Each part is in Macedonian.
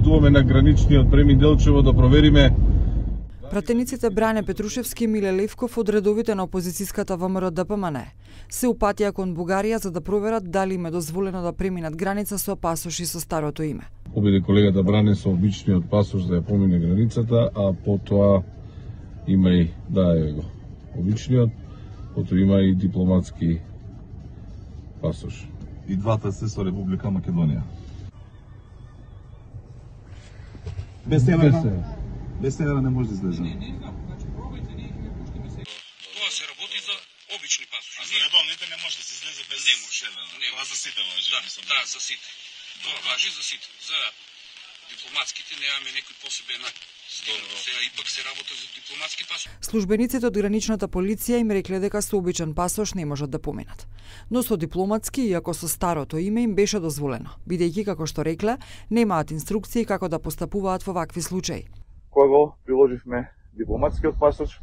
патуваме на граничниот премин Делчево да провериме. Пратениците Бране Петрушевски и Миле Левков од редовите на опозицијската ВМРО ДПМН се упатија кон Бугарија за да проверат дали им е дозволено да преминат граница со пасоши со старото име. Победе колегата Бране со обичниот пасош да ја помине границата, а потоа има и обичниот, потоа има и дипломатски пасош. И двата се со Република Македонија. Без тенера не може да излезе. Не знам, значи пробајте, ние ќе пуштиме се. Тоа се работи за обични пасоши. А за редовните не може да се излезе без това за сите важи. Да, за сите. Тоа важи за сите. За дипломатските немаме некој посебен стил. Сега ипак се работи за дипломатски пасош. Службениците од граничната полиција им рекле дека со обичен пасош не можат да поминат. Но со дипломатски, иако со старото име, им беше дозволено, бидејќи, како што рекле, немаат инструкции како да постапуваат во вакви случаи. Кога го приложивме дипломатскиот пасош,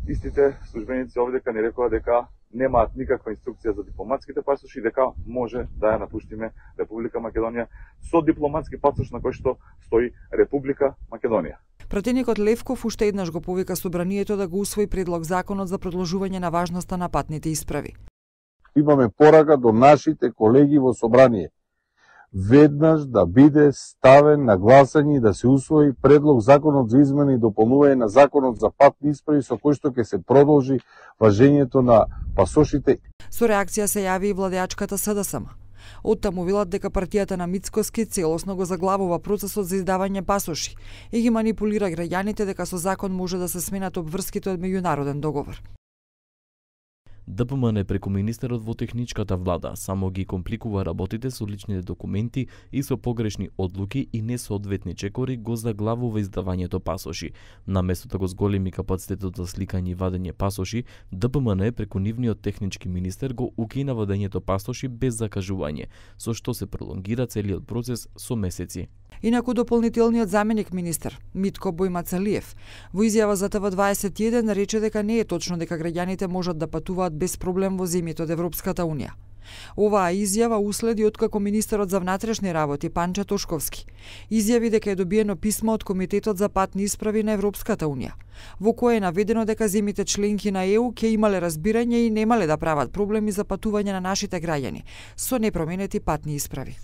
истите службеници овдека ни рекоа дека немаат никаква инструкција за дипломатските пасоши и дека може да ја напуштиме Република Македонија со дипломатски пасош на кој што стои Република Македонија. Пратеникот Левков уште еднаш го повика собранието да го усвои предлог законот за продолжување на важноста на патните исправи. Имаме порака до нашите колеги во собрание веднаш да биде ставен на гласање и да се усвои предлог законот за измена и дополнување на законот за патни исправи со кој што ќе се продолжи важењето на пасошите. Со реакција се јави и владеачката СДСМ. Оттаму велат дека партијата на Мицкоски целосно го заглавува процесот за издавање пасоши и ги манипулира граѓаните дека со закон може да се сменат обврските од меѓународен договор. ДПМН преку министерот во техничката влада само ги компликува работите со личните документи и со погрешни одлуки и несоодветни чекори го заглавува издавањето пасоши. Наместо да го зголеми капацитетот за сликање и вадење пасоши, ДПМН преку нивниот технички министер го укина вадењето пасоши без закажување, со што се пролонгира целиот процес со месеци. Инаку дополнителниот заменик министер Митко Бојмацалиев во изјава за ТВ21 рече дека не е точно дека граѓаните можат да патуваат без проблем во земјите од Европската унија. Оваа изјава уследи откако министерот за внатрешни работи Панча Тошковски изјави дека е добиено писмо од Комитетот за патни исправи на Европската унија, во кое е наведено дека земјите членки на ЕУ ќе имале разбирање и немале да прават проблеми за патување на нашите граѓани со непроменети патни исправи.